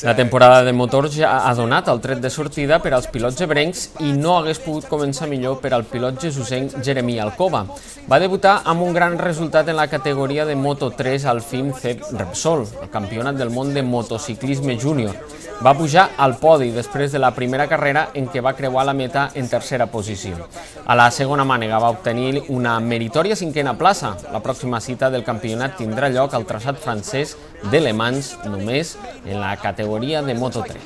La temporada de motors ja ha donat el tret de sortida per als pilots ebrencs i no hagués pogut començar millor per al pilot jesusenc Jeremy Alcoba. Va debutar amb un gran resultat en la categoria de Moto3 al FIM CEP Repsol, el campionat del món de motociclisme júnior. Va pujar al podi després de la primera carrera en què va creuar la meta en tercera posició. A la segona mànega va obtenir una meritòria cinquena plaça. La pròxima cita del campionat tindrà lloc al traçat francès de Le Mans, només en la categoria de Moto3.